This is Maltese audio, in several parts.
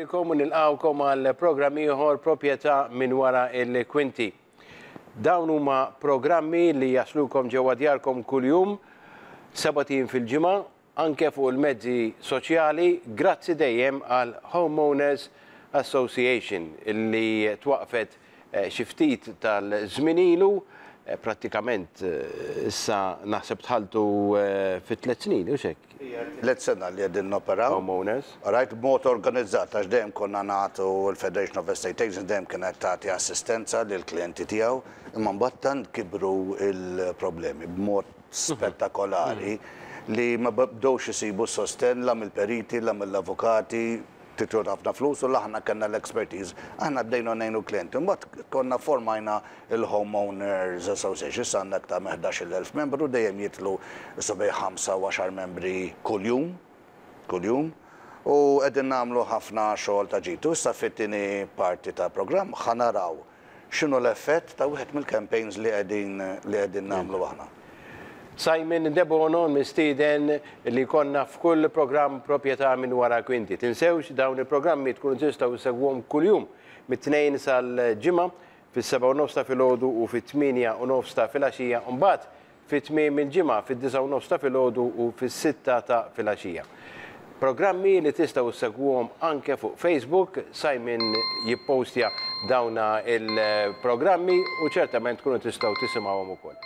Lilkom u nilqgħukom għal programm ieħor Proprjetà minn wara l-kwinti. Dawn huma programmi li jaslukom ġewwa djarkom kuljum, sebat ijiem fil-ġimgħa, anke fuq il-mezzi soċjali, grazzi dejjem għal Homeowners Association li twaqqfet xi ftit tal-żmien ilu, prattikament issa naħseb dħaltu fi tlett snin, hux hekk? Hija t-tielet sena li qegħdin noperaw. Homeowners. Right, b'mod organizzat għax dejjem konna nagħtu l-Federation of Estate Agents dejjem kienet tagħti assistenza lill-klijenti tiegħu, imma mbagħad tant kibru l-problemi b'mod spettakolari li ma bdewx isibu s-sostenn la mill-periti, la mill-avukati, titjur ħafna flus u la aħna kellna l-expertise. Aħna bdejna ngħinu l-klijenti. Imbagħad konna formajna l-Homeowners Association, issa għandna iktar minn 11,000 membru, dejjem jidħlu issa bejn ħamsa u għaxar membri kuljum, kuljum, u qegħdin nagħmlu ħafna xogħol ta' ġid. U issa fit-tieni parti tal-programm ħa naraw X'inhu l-effett ta' wieħed mill-campaigns li qegħdin li qegħdin nagħmlu aħna? Simon Debono mistieden li jkollna f'kull programm Proprjetà minn wara kwinti. Tinsewx dawn il-programmi tkunu tistgħu ssegwuhom kuljum mit-Tnejn sal-Ġimgħa fis-sebgħa u nofs ta' filgħodu u fit-tmienja u nofs ta' filgħaxija u mbagħad fi tmiem il-ġimgħa fid-disgħa u nofs ta' filgħodu u fis-sitta ta' filgħaxija. Programmi li tistgħu ssegwuhom anke fuq Facebook, Simon jippostja dawna il-programmi u ċertament tkunu tistgħu tisimgħuhom ukoll.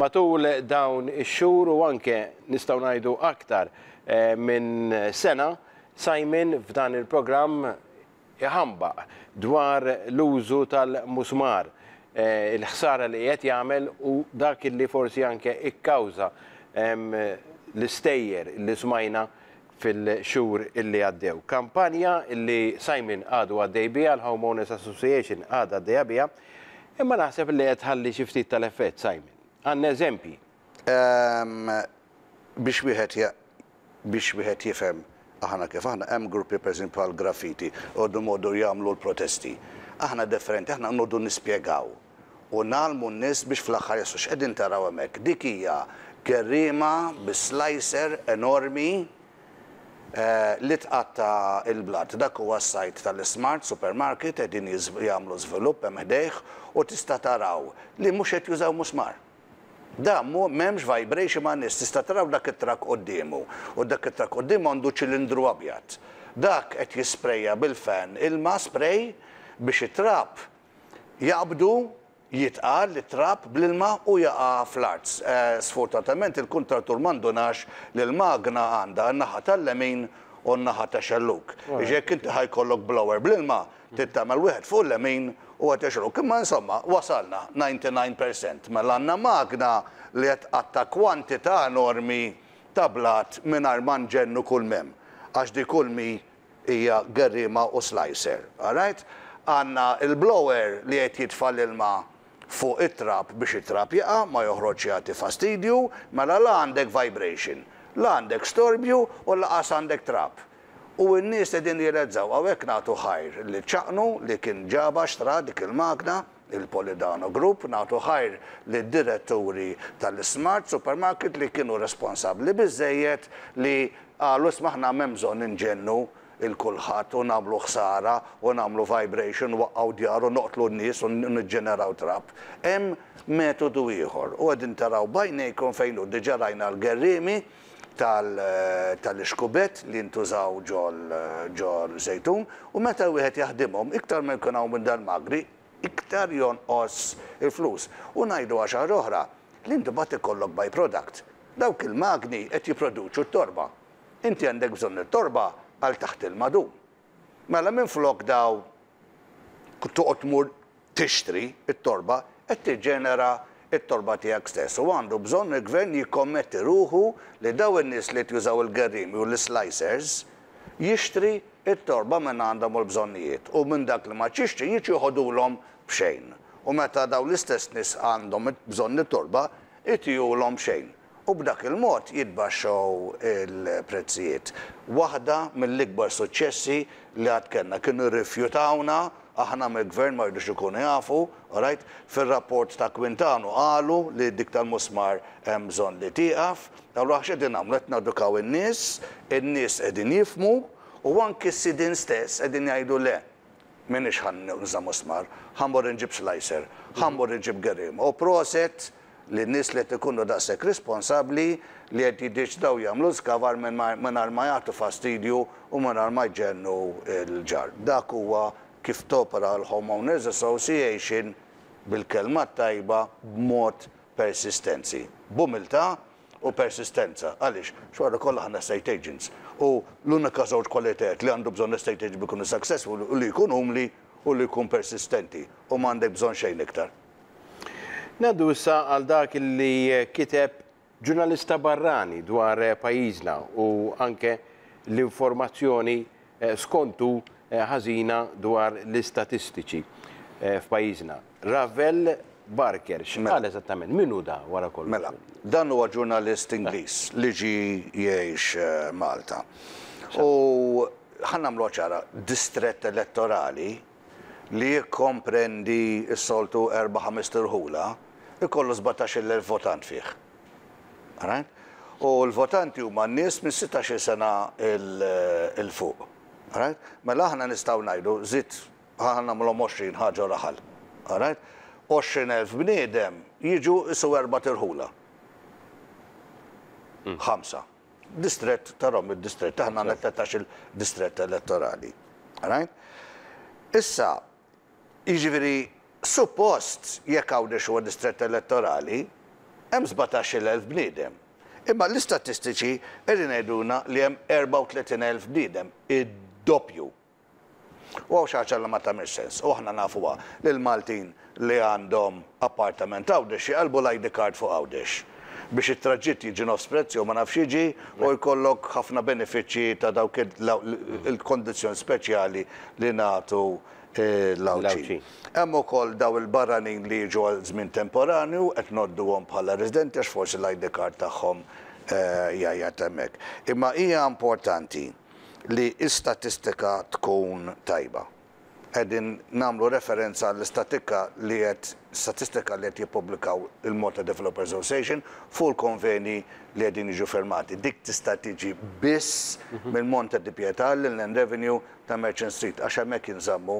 Matul dawn ix-xhur u anke nistgħu ngħidu aktar eh, minn sena, Simon f'dan il-programm iħambaq dwar l-użu tal-musmar, il-ħsara li qiegħed jagħmel u dak li forsi anke ikkawża l-istejjer li smajna fil-xhur illi għaddew. Kampanja li Simon għadu għaddej biha, l-Homeowners Association għadha għaddejja biha, imma naħseb li qed tħalli xi ftit tal-effett, Simon. Għandna eżempji. Biex wieħed Biex wieħed jifhem aħna kif aħna, hemm gruppi pereżempju bħal Graffiti, jqogħdu jmorru jagħmlu l-protesti. Aħna differenti, aħna noqogħdu nispjegaw u ngħallmu n-nies biex fl-aħħar jaslu x'qegħdin taraw hemmhekk. Dik hija gerriema bi slicer enormi li tqatta' l-blat. Dak huwa s-site tal-Ismart Supermarket qegħdin jagħmlu żvilupp hemm ħdejh u tista' taraw li mhux qed jużaw musmar. Dan mhu m'hemmx vibration ma' nies tista' taraw dak it-trakk quddiemu u dak it-trakk quddiemu għandu ċilindru abjad. Dak qed jisprejja bil-fan ilma spray biex it-trab jaqbdu jitqal it-trab bl-ilma u jaqa' fl-art. Sfortunatament il-kuntrattur ma ndunax li l-magna għandha n-naħa tal-lemin u n-naħa tax-xellug. Jiġifieri jekk inti ħa jkollok blower bl-ilma Trid tagħmel wieħed fuq il-lemin u wieħed ix-xellug. Imma insomma, wasalna, 99 percent. Mela għandna magna li qed tqatta' kwantità enormi ta' blat mingħajr ma nġennu kull m'hemm. Għax di kull m'hi hija gerriema u slicer. All right? Għandna l-blower li qed jitfa' l-ilma fuq it-trab biex it-trab jaqa' ma joħroġx jagħti fastidju, mela la għandek vibration, la għandek storbju u lanqas għandek trab. U n-nies qegħdin jirrealizzaw, hawnhekk nagħtu ħajr lil Ċaqnu li kien ġabha xtra dik il-magna, il-Polidano Group, nagħtu ħajr lid-diretturi tal-Ismart Supermarket li kienu responsabbli biżżejjed li qalu isma' aħna m'hemm bżonn inġennu 'l kulħadd u nagħmlu ħsara u nagħmlu vibration, nwaqqgħu djar u noqtlu n-nies u niġġeneraw trab. Hemm metodu ieħor u qegħdin taraw b'għajnejkom fejn hu. Diġà rajna l-gerriemi tal-ixkubett li jintużaw ġol-żejtun u meta wieħed jaħdimhom, iktar ma jkun hawn minn dal-magni, iktar jonqos il-flus. U ngħidu għal xi ħaġa oħra, li inti mbagħad ikollok by product. Dawk il-magni qed jipproduċu t-torba. Inti għandek bżonn it-torba għal taħt il-madum. Mela minflok daw toqgħod tmur tixtri t-torba, qed tiġġenera t-torba tiegħek stess. U għandu bżonn il-Gvern jikkommetti ruħu li dawn in-nies li qed jużaw il-gerriemi u l-islicers jixtri t-torba minn għandhom u l-bżonnijiet. U minn dak li ma jixtri jiġu joħodulhom b'xejn. U meta dawn l-istess nies għandhom bżonn it-torba, itihulhom b'xejn. U b'dak il-mod jitbaxxew il-prezzijiet. Waħda mill-ikbar suċċessi li għad kellna. Kienu rrifjutawna, aħna mill-Gvern ma jridux ikunu jafu, alright? Fir-rapport ta' Quintano qalu li dik tal-musmar hemm bżonn li tieqaf. Allura x'qegħdin nagħmlu? Qed nedukaw in-nies, in-nies qegħdin jifhmu u anki s-sidien stess qegħdin jgħidu le, m'iniex ħa nuża musmar, ħa mmur inġib slicer, ħa mmur inġib gerriema. U proset lin-nies li qed ikunu daqshekk responsabbli li qed jiddeċidaw jagħmlu żkavar mingħajr ma jagħtu fastidju u mingħajr ma jġennu l-ġar. Dak huwa kif topera l-Homeowners Association bil-kelma t-tajba b'mod persistenzi. B'umiltà u persistenza. Għaliex? Għax wara kollox aħna estate agents u l-unika żewġ kwalitajiet li għandu bżonn estate agent biex ikunu successful hu li jkun umli u li jkun persistenti u m'għandek bżonn xejn iktar. Ngħaddu issa għal dak li kiteb ġurnalista barrani dwar pajjiżna u anke l-informazzjoni skontu ħażina dwar l-istatistiċi f'pajjiżna. Ravel Barker, x'qal eżattament? Min hu da wara kollox? Mela, dan huwa ġurnalist Ingliż li ġie jgħix Malta. U ħa nagħmluha ċara, distrett elettorali li jikkomprendi s-soltu erba' ħamest irħula, ikollu 17,000 votant fih. Alright? U l-votanti huma n-nies minn 16-il sena 'l fuq. Alright? Mela aħna nistgħu ngħidu, żid ħa nagħmluhom 20 ħaġa u raħal. Alright? 20,000 bniedem jiġu qisu erbat irħula. Ħamsa. Distrett tarahom id-distrett, aħna għandna 13-il distrett elettorali. Right? Issa, jiġifieri suppost jekk Għawdex huwa distrett elettorali, hemm 17,000 bniedem. Imma l-istatistiċi qegħdin jgħidulna li hemm 34,000 bniedem, id-doppju. U hawn xi ħaġa li ma tagħmilx sens, u aħna nafuha, li l-Maltin li għandhom appartament Għawdex jqallbu l-ID card fuq Għawdex biex it-traġitt jiġi nofs prezz jew ma nafx jiġi u jkollok ħafna benefiċċji ta' dawk il-kondizzjoni speċjali li nagħtu l-Għawdxin. Hemm ukoll dawn il-barranin li jiġu għal żmien temporanju qed ngħodduhom bħala residenti għax forsi l-ID card tagħhom jgħajjat hemmhekk. Imma hija importanti li l-istatistika tkun tajba. Qegħdin nagħmlu referenza għall-istatikka li qed statistika li qed jippubblikaw il-Malta Developers Association fuq il-konveni li qegħdin jiġu firmati. Dik tista' tiġi biss mill-Monte di Pietà l-Inland Revenue ta' Merchant Street għax hemmhekk jinżammu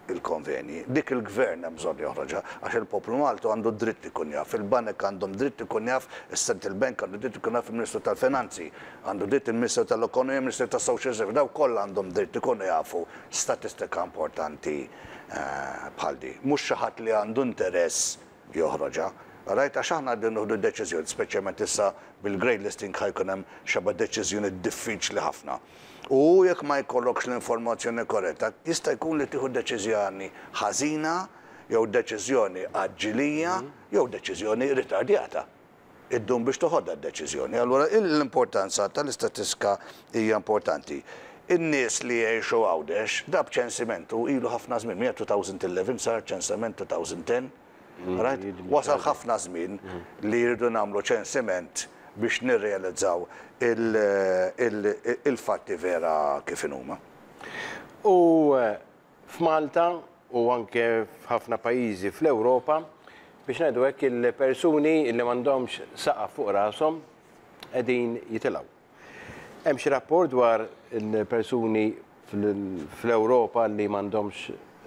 il-konvenji. Dik il-Gvern hemm bżonn joħroġha għax il-poplu Malti għandu dritt ikun jaf, il-banek għandhom dritt ikun jaf, is-Central Bank għandu dritt ikun jaf, il-Ministru tal-Finanzi għandu dritt, il-Ministru tal-Ekonomija, il-Ministru tas-Social Service, dawk kollha għandhom dritt ikunu jafu statistika importanti bħal di. Mhux xi ħadd li għandu interess joħroġha. Rajt għax aħna qegħdin nieħdu deċiżjoni, speċjalment issa bil-grey listing ħa jkun hemm xeba deċiżjoni diffiċli ħafna. U jekk ma jkollokx l-informazzjoni korretta, jista' jkun li tieħu deċiżjoni ħażina jew deċiżjoni għaġġilija jew deċiżjoni ritardjata. Iddum biex toħodha d-deċiżjoni. Allura l-importanza tal-istatistika hija importanti. In-nies li jgħixu Għawdex, da b'ċensiment u ilu ħafna żmien, minn 2011 sar ċensiment 2010, right? Wasal ħafna żmien li jridu nagħmlu ċensiment biex nirrealizzaw il-fatti vera kif inhuma. U f'Malta u anke f'ħafna pajjiżi fl-Ewropa, biex ngħidu hekk il-persuni li m'għandhomx saqaf fuq rashom qegħdin jitilgħu. Hemm xi rapport dwar il-persuni fl-Ewropa li m'għandhomx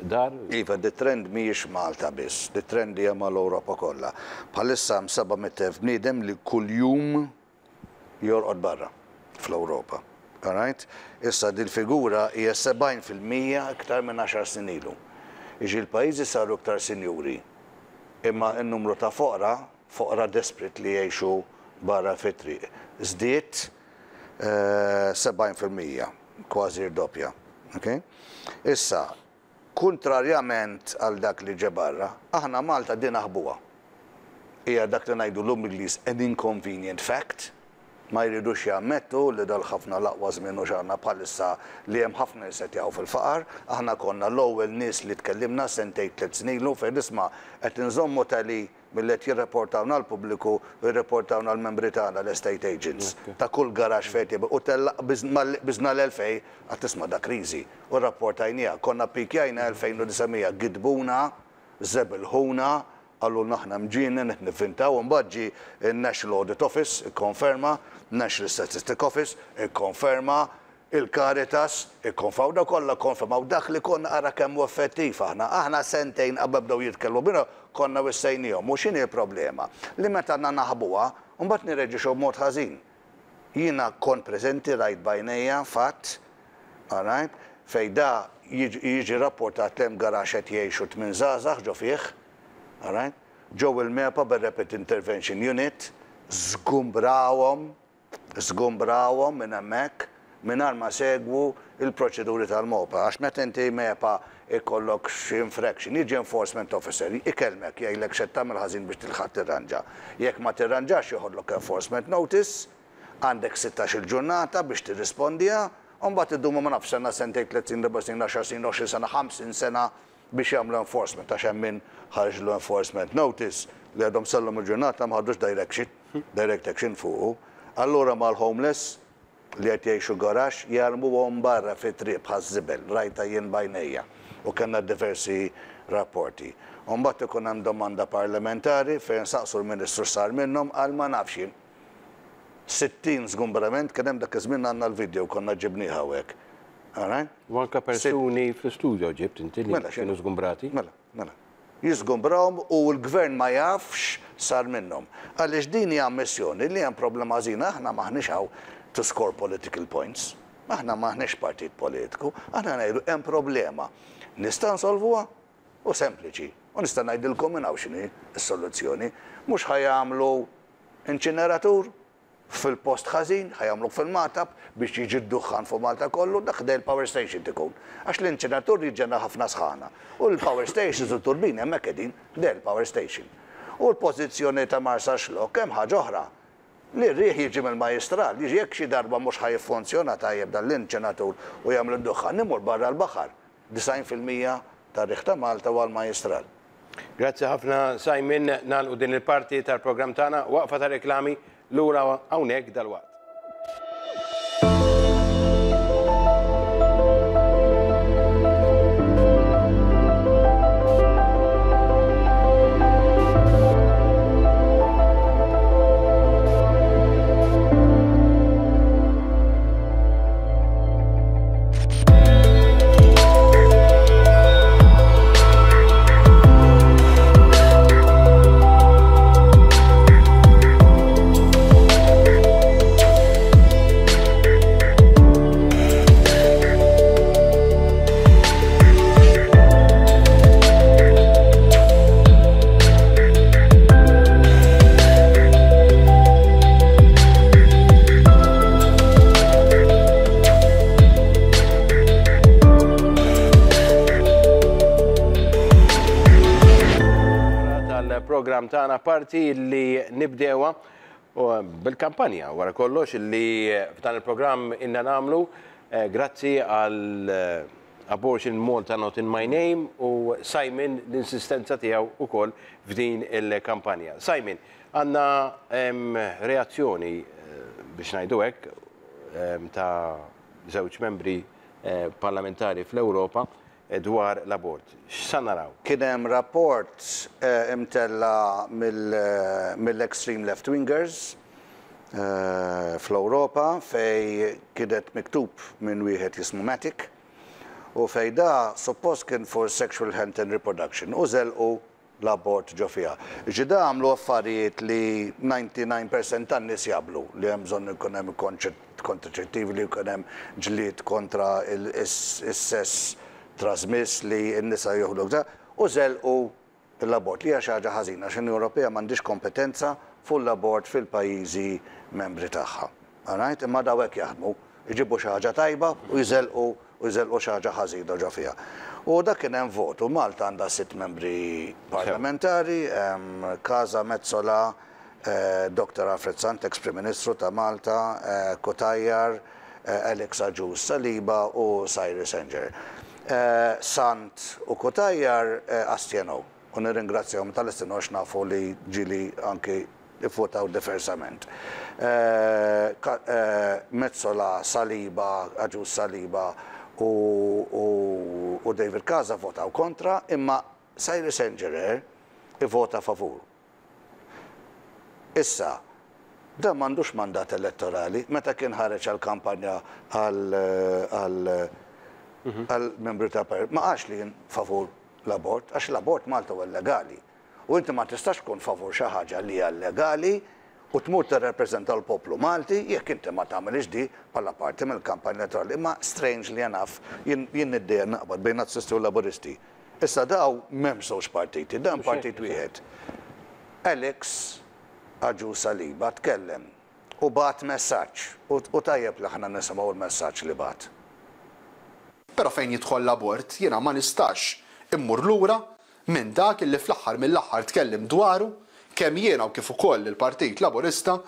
dar? Iva, di trend mhijiex Malta biss, di trend hija mal-Ewropa kollha. Bħalissa hemm 700,000 bniedem li kuljum jorqod barra fl-Ewropa. Alright? Issa dil-figura hija 70% iktar minn għaxar snin ilu. Jiġifieri l-pajjiżi saru iktar sinjuri, imma n-numru ta' foqra, foqra desperate li jgħixu barra fit-triq, żdied 70%, kważi rdoppja. Okay? Issa, Kuntrarjament għal dak li ġe barra, aħna Malta din naħbuha. Hija dak li ngħidulu bl-Ingliż an inconvenient fact. Ma jridux jammettu li dal-ħafna l-aqwa żmien u x'għandna bħalissa li hemm ħafna nies qed jaqgħu fil-faqar. Aħna konna l-ewwel nies li tkellimna sentejn tliet snin ilu fejn isma' qed inżommu tally milli qed jirreportawna l-pubbliku u jirreportawna l-membri tagħna l-estate agents ta' kull garaxx fejn qed jibgħu u tella' malli qbiżna l-2000 għad tisma' da kriżi u rrapportajniha konna ppikjajna 2900 gidbuna żebilħuna qalulna aħna mġienen qed nivvintaw imbagħad ġie n-National Audit Office ikkonferma National Statistic Office ikkonferma Il-Caritas ikkonfaw, dawn kollha kkonfermaw dak li konna ara kemm hu effettiv aħna. Aħna sentejn qabel bdew jitkellmu bina konna wissejniehom. U x'inhi l-problema? Li meta aħna naħbuha, mbagħad nirreaġixxu b'mod ħażin. Jiena kont preżenti rajt b'għajnejja fatt, all right, fejn da jiġi rapportat li hemm garaxx qed jgħixu tmien żgħażagħ ġo fih, all right, ġew il-MEPA bir-Rapid Intervention Unit, żgumbrawhom, żgumbrawhom minn hemmhekk mingħajr ma segwu l-proċeduri tal-MOPA. Għax meta inti MEPA jkollok xi infraction, jiġi enforcement officer, ikellmek, jgħidlek x'qed tagħmel ħażin biex tilħaq tirranġa. Jekk ma tirranġax joħodlok enforcement notice, għandek sittax-il ġurnata biex tirrispondiha, u mbagħad idumu ma nafx sena, sentejn, tliet snin, erba' snin, għaxar snin, 20 sena, 50 sena biex jagħmlu enforcement għax hemm min ħarġlu enforcement notice li għadhom sal-lum il-ġurnata ma ħadux direction, direct action fuqu. Allura mal-homeless li qed jgħixu garaxx jarmuhom barra fit-triq bħaż-żibel, rajtha jien b'għajnejja u kellna diversi rapporti. U mbagħad ikun hemm domanda parlamentari fejn saqsu l-Ministru x'sar minnhom, qal ma nafx jien. 60 żgumbrament kien hemm dak iż-żmien għandna l-video konna ġibnieh hawnhekk. All right? U anke persuni fl-istudio ġibt inti li kienu żgumbrati. Mela, mela. Jiżgumbrawhom u l-gvern ma jafx sar minnhom. Għaliex din hija ammissjoni li hemm problema ħażina, aħna m'aħniex hawn to score political points. Aħna m'aħniex partit politiku, aħna ngħidu hemm problema. Nista' nsolvuha? U sempliċi. U nista' ngħidilkom minn hawn x'inhi s-soluzzjoni. Mhux ħa jagħmlu inċineratur? Fil-post ħażin, ħa jagħmluh fil-Magħtab biex jiġi d-duħħan fuq Malta kollu, dak ħdejn il-power station tikun. Għax l-inċineratur jiġġenera ħafna sħana. U l-power stations u t-turbini hemmhekk qegħdin, ħdejn il-power station. U l-pożizzjoni ta' Marsaxlokk hemm ħaġa oħra. Li r-riħ jiġi mill-Majjistral, jiġi jekk xi darba mhux ħa jiffunzjona tajjeb dan l-inċinatur u jagħmel id-duħħan, imur barra l-baħar. 90% tar-riħ ta' Malta huwa l-Majjistral. Grazzi ħafna Simon, nagħlqu din il-parti tal-programm tagħna, waqfa ta' reklami, lura hawnhekk dalwaqt. Tal-programm tagħna parti li nibdewa bil-kampanja wara kollox li f'dan il-programm inna nagħmlu eh, grazzi għal eh, Abortion Malta Not In My Name u Simon l-insistenza tiegħu ukoll f'din il-kampanja. Simon, Għandna reazzjoni, biex ngħidu hekk, ta' żewġ membri parlamentari fl-Ewropa dwar l-abort. X'sa naraw? Kien hemm rapport imtella' mill-extreme left wingers fl-Ewropa fejn kienet miktub minn wieħed jismu Matic u fejn da suppost kien for sexual health and reproduction u żelqu l-abort ġo fiha. Jiġifieri da għamlu affarijiet li 99 percent tan-nies jaqblu li hemm bżonn ikun hemm kontraċettivi, li jkun hemm ġlied kontra is-sess trasmiss li n-nisa joħdu u żelqu l-abort, li hija xi ħaġa ħażina għax l-Unjoni Ewropea m'għandhiex kompetenza fuq l-abort fil-pajjiżi membri tagħha. Alright? Imma daw hekk jaħdmu, iġibu xi ħaġa tajba u jżelqu u jżelqu xi ħaġa ħażina ġo fiha. U dak kien hemm vot u Malta għandha sitt membri parlamentari, Casa, Metsola, Dr. Alfred Sant, ex Prim Ministru ta' Malta, Cutajar, Alex Agius Saliba u Cyrus Engerer. Sant u Cutajar astjenew u nirringrazzjahom tal-astjenew għax nafu li ġieli anki ivvutaw diversament. Metsola, Saliba, Agius Saliba u David Casa votaw kontra imma Cyrus Engerer ivvota favur. Issa, dan m'għandux mandat elettorali. Meta kien ħareġ għall-kampanja għal għal membru ta' parlament, ma qalx li jien favur l-abort, għax l-abort Malta huwa illegali. U inti ma tistax tkun favur xi ħaġa li hija illegali u tmur tirrepreżenta l-poplu Malti jekk inti ma tagħmilx di bħala parti mill-kampanja elettorali. Imma strangely enough, jien niddejjaq naqbad bejn Nazzisti u Laburisti. Issa daw m'hemmx żewġ partiti, dan partit wieħed. Alex Agius Saliba tkellem u bagħat messaġġ u tajjeb li aħna nisimgħu l-messaġġ li bagħat. Però fejn jidħol l-abort jiena ma nistax immur lura minn dak illi fl-aħħar mill-aħħar tkellimt dwaru kemm jiena u kif ukoll il-Partit Laburista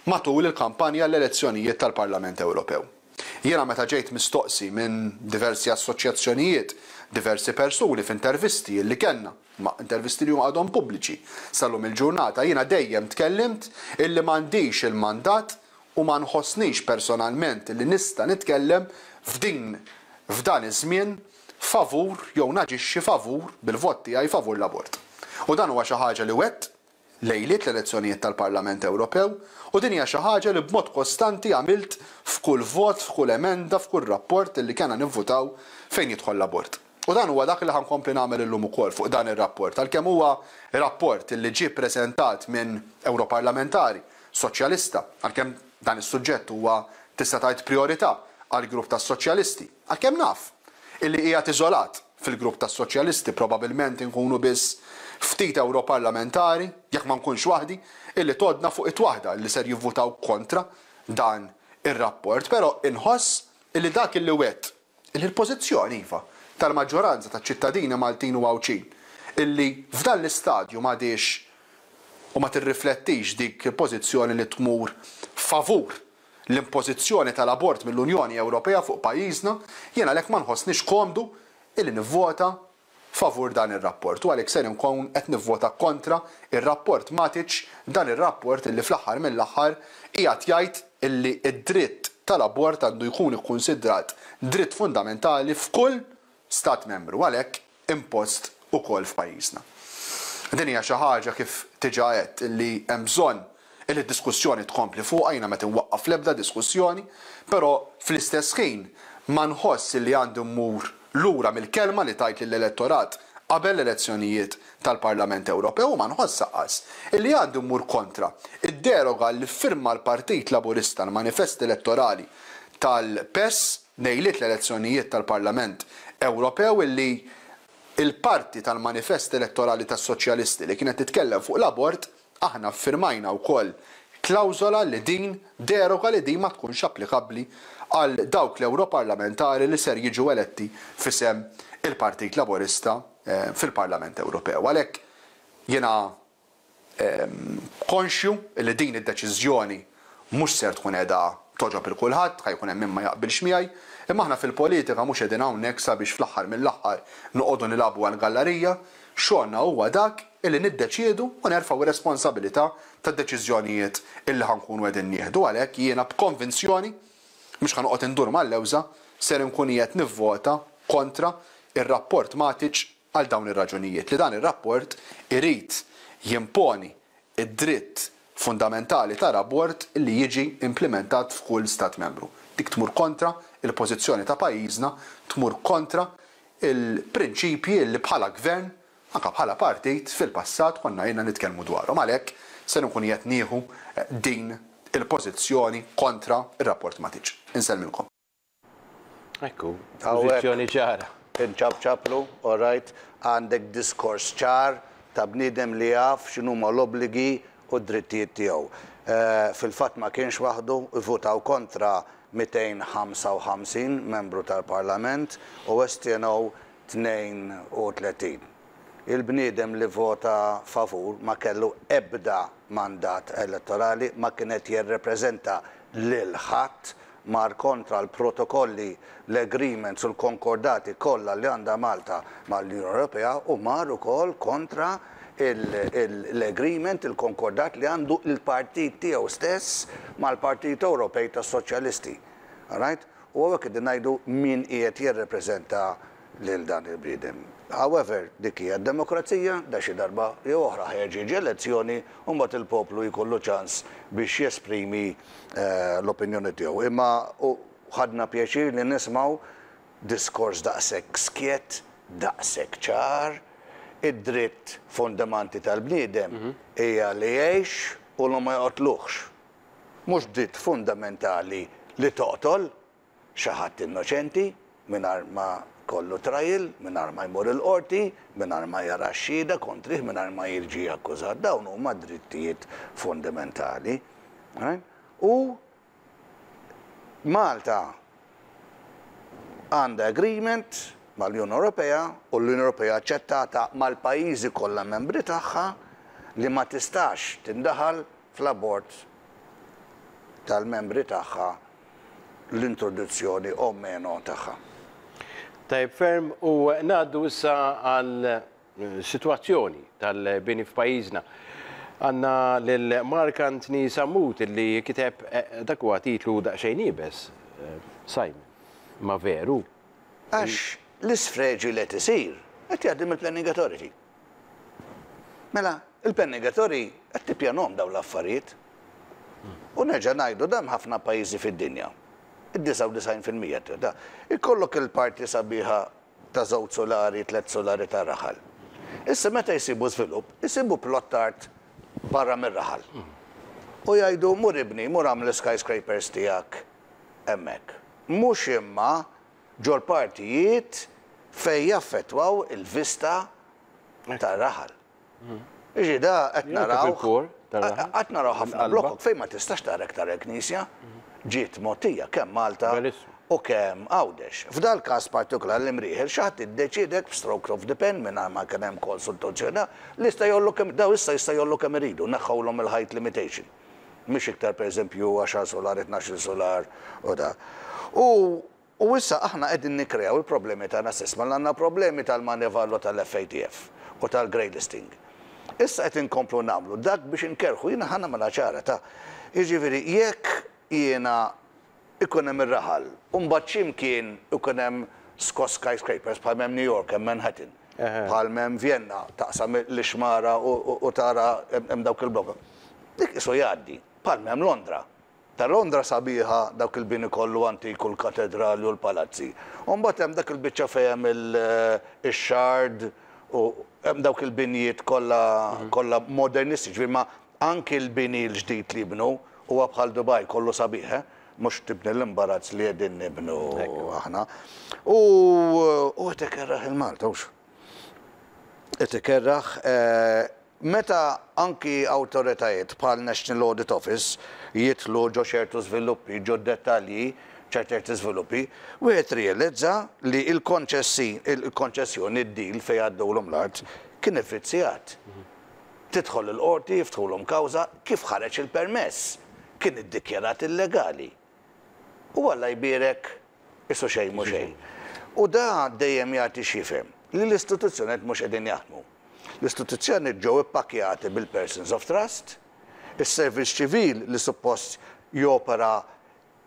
matul il-kampanja għall-elezzjonijiet tal-Parlament Ewropew. Jiena meta ġejt mistoqsi minn diversi assoċjazzjonijiet, diversi persuni f'intervisti illi kellna, ma intervisti li huma għadhom pubbliċi sal-lum il-ġurnata, jiena dejjem tkellimt illi m'għandix il-mandat u ma nħossnix personalment illi nista' nitkellem f'din f'dan iż-żmien favur jew naġixxi favur bil-vot tiegħi favur l-abort. U dan huwa xi ħaġa li wegħedt lejliet l-elezzjonijiet tal-Parlament Ewropew u din hija xi ħaġa li b'mod kostanti għamilt f'kull vot, f'kull emenda, f'kull rapport li kellna nivvutaw fejn jidħol l-abort. U dan huwa dak li ħa nkompli nagħmel illum ukoll fuq dan ir-rapport, għalkemm huwa rapport li ġie ppreżentat minn Ewroparlamentari Soċjalista, għalkemm dan is-suġġett huwa tista' tgħid prijorità għall-grupp tas-Soċjalisti, għalkemm naf illi qiegħed iżolat fil-grupp tas-Soċjalisti probabilment inkunu biss ftit Ewroparlamentari, jekk ma nkunx waħdi, illi tgħoddna fuq id waħda illi ser jivvutaw kontra dan ir-rapport, però inħoss illi dak illi wegħedt, illi l-pożizzjoni, iva, tal-maġġoranza taċ-ċittadini Maltin u Għawdxin, illi f'dan l-istadju m'għadhiex u ma tirriflettix dik il-pożizzjoni li tmur favur l-impożizzjoni tal-abort mill-Unjoni Ewropea fuq pajjiżna, jien għalhekk ma nħossnix komdu illi nivvota favur dan ir-rapport u għalhekk ser inkun qed nivvota kontra r-rapport Matic, dan ir-rapport illi fl-aħħar mill-aħħar qiegħed jgħid illi d-dritt tal-abort għandu jkun ikkunsidrat dritt fundamentali f'kull Stat Membru, għalhekk impost ukoll f'pajjiżna. Din hija xi ħaġa kif diġà għedt illi hemm bżonn illi d-diskussjoni tkompli fuqha, jiena m'qed inwaqqaf l-ebda diskussjoni, però fl-istess ħin ma nħoss illi għandi mmur lura mill-kelma li tajt lill-elettorat qabel l-elezzjonijiet tal-Parlament Ewropew u ma nħoss aqqas illi għandi mmur kontra d-deroga li ffirma l-Partit Laburista l-manifest elettorali tal-PES lejliet l-elezzjonijiet tal-Parlament Ewropew illi l-parti tal-manifest elettorali tas-Soċjalisti li kienet titkellem fuq l-abort aħna ffirmajna wkoll klawżola li din deroga li din ma tkunx applikabbli għal dawk l-Ewroparlamentari li ser jiġu eletti f'isem il-Partit Laburista fil-Parlament Ewropew. Għalhekk jiena konxju li din id-deċiżjoni mhux ser tkun qiegħda togħġob 'il kulħadd, ħa jkun hemm min ma jaqbilx miegħi, imma aħna fil-politika mhux qegħdin hawnhekk sabiex fl-aħħar mill-aħħar noqogħdu nilagħbu għall-gallarija, xogħolna huwa dak illi niddeċiedu u nerfgħu r-responsabilità tad-deċiżjonijiet illi ħa nkunu qegħdin nieħdu. Għalhekk jiena b'konvinzjoni, mhux ħa noqgħod indur mal-lewża, ser inkun qiegħed nivvota kontra r-rapport Matic għal dawn ir-raġunijiet, li dan ir-rapport irid jimponi d-dritt fundamentali tal-abort li jiġi implimentat f'kull Stat Membru. Dik tmur kontra l-pożizzjoni ta' pajjiżna, tmur kontra l-prinċipji li bħala Gvern, anke bħala partit, fil-passat konna ilna nitkellmu dwarhom. Għalhekk ser inkun qiegħed nieħu din il-pożizzjoni kontra r-rapport Matic. Insellmilkom. Ekku, pożizzjoni ċara. Inċapċaplu, all right, għandek diskors ċar ta' bniedem li jaf x'inhuma l-obbligi u d-drittijiet tiegħu. Fil-fatt ma kienx waħdu, ivvutaw kontra 255 membru tal-Parlament u astjenew 32. Il-bniedem li vvota favur ma kellu ebda mandat elettorali, ma kien qed jirrepreżenta lil ħadd, mar kontra l-protokolli, l-agreements u l-konkordati kollha li għandha Malta mal-Unjoni Ewropea u mar ukoll kontra l-agreement, il-konkordat li għandu l-partit tiegħu stess mal-Partit Ewropej tas-Soċjalisti. Alright? U hawnhekk qegħdin ngħidu min qiegħed jirrepreżenta lil dan il-bniedem. However, dik hija d-demokrazija, da xi darba jew oħra ħa jerġa' jiġi elezzjoni u mbagħad il-poplu jkollu ċans biex jesprimi l-opinjoni tiegħu. Imma ħadna pjaċir li nismgħu diskors daqshekk skjett, daqshekk ċar. Id-dritt fundamanti tal-bniedem hija li jgħix u li ma joqtluhx. Mhux dritt fundamentali li toqtol xi ħadd innoċenti mingħajr ma jkollu trial, mingħajr ma jmur il-qorti, mingħajr ma jara x-xhieda kontrih, mingħajr ma jiġi akkużat. Dawn huma drittijiet fundamentali. U Malta għandha agreement mal-Unjoni Ewropea u l-Unjoni Ewropea aċċettata mal-pajjiżi kollha membri tagħha li ma tistax tindaħal fl-abort tal-membri tagħha l-introduzzjoni o meno tagħha. Tajjeb ferm u ngħaddu issa għal sitwazzjoni tal-bini f'pajjiżna. Għandna lil Mark Anthony Sammut li kiteb dak huwa titlu daqsxejn iebes, Simon. Ma veru. Għax l-isfreġju li qed isir qed jgħaddi mill-Planning Authority. Mela, il-Planning Authority qed tippjanhom dawn l-affarijiet. U nerġa' ngħidu dan ħafna pajjiżi fid-dinja. Id-99% ta' ikollok il-parti sabiħa ta' żewġ sulari, tlett sulari ta' raħal. Issa meta jsibu żvilupp, isibu plot art barra mir-raħal. U jgħidu mur ibni, mur agħmel skyscrapers tiegħek hemmhekk. Mhux imma ġol-partijiet fejn jaffettwaw il-vista tar-raħal. Jiġi da qed naraw. Qed naraw ħafna blokok fejn ma tistax tara iktar il-knisja. Ġiet mogħtija kemm Malta u kemm Għawdex. F'dal-każ partikolari l-Imrieħel xi ħadd iddeċieda hekk b'stroke of the pen mingħajr ma kien hemm konsultazzjoni li jista' jgħollu kemm daw issa jista' jgħollu kemm iridu, neħħewlhom il-height limitation. Mhix iktar pereżempju għaxar sular, itnax-il sular u da. U U issa aħna qegħdin nikkreaw il-problemi tagħna stess. Mela għandna problemi tal-Manival u tal-FATF u tal-grey listing. Issa qed inkomplu nagħmlu dak biex inkerrħu. Jiena ħa nagħmilha ċara ta'. Jiġifieri jekk jiena ikun hemm ir-raħal u mbagħad xi mkien ikun hemm skyscrapers bħal m'hemm New York, hemm Manhattan, bħal m'hemm Vienna, taqsam l-ixmara u tara hemm dawk il-blokok. Dik qisu jgħaddi, bħal m'hemm Londra. Ta' Londra sabiħa dawk il-bini kollu antik u l-katedrali u l-palazzi. U mbagħad hemm dak il-biċċa fejn hemm ix-Shard u hemm dawk il-binjiet kollha kollha modernisti, ġifieri ma anki l-bini l-ġdid li jibnu huwa bħal Dubai kollu sabiħ, eh? Mhux tibni l-imbarazz li qegħdin nibnu aħna. U u qed ikerraħ il-Malta hux. Qed ikerraħ Meta anki awtoritajiet bħal National Audit Office jidħlu ġo ċertu żviluppi, ġo dettalji ta' ċerti żviluppi, wieħed jirrealizza li l-konċessi, il-konċessjoni, id-deal fejn għaddewlhom l-art kien ivvizzjat. Tidħol il-qorti, jiftħulhom kawża, kif ħareġ il-permess? Kien iddikjarat illegali. U Alla jbierek Qisu xejn mhu xejn. U da dejjem jagħti x'jifhem li l-istituzzjonijiet mhux qegħdin jaħdmu. L-istituzzjonijiet ġew ippakkjati bil-persons of trust, is-servizz ċivil li suppost jopera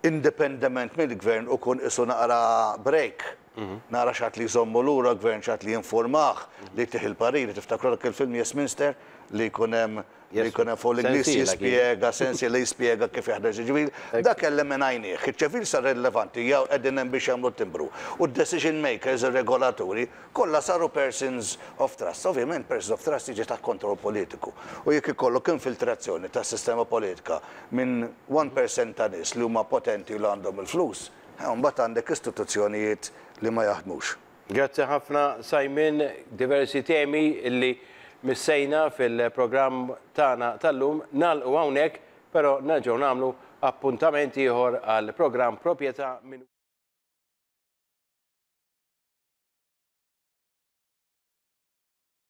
indipendement mill-gvern u jkun qisu naqra break. Nara xi ħadd li jżommu lura gvern, xi ħadd li jinformah, li jtih il-pariri. Tiftakru dak il-film Yes Minster li jkun hemm li jkun hemm fuq l-Ingliż jispjega, sensi li jispjega kif jaħdem ċivil, dak eliminajnieh. Iċ-ċivil sar irrilevanti, jew qegħdin hemm biex jagħmlu timbru. U d-decision makers, ir-regolaturi, kollha saru persons of trust. Ovvjament persons of trust jiġi taħt kontroll politiku. U jekk ikollok infiltrazzjoni tas-sistema politika minn 1% ta' nies li huma potenti u li għandhom il-flus, mbagħad għandek istituzzjonijiet li ma jaħdmux. Grazzi ħafna, Simon, diversi temi illi missejna fil-programm tagħna tal-lum nagħlqu hawnhekk, però nerġgħu nagħmlu appuntament ieħor għal programm Proprjetà minn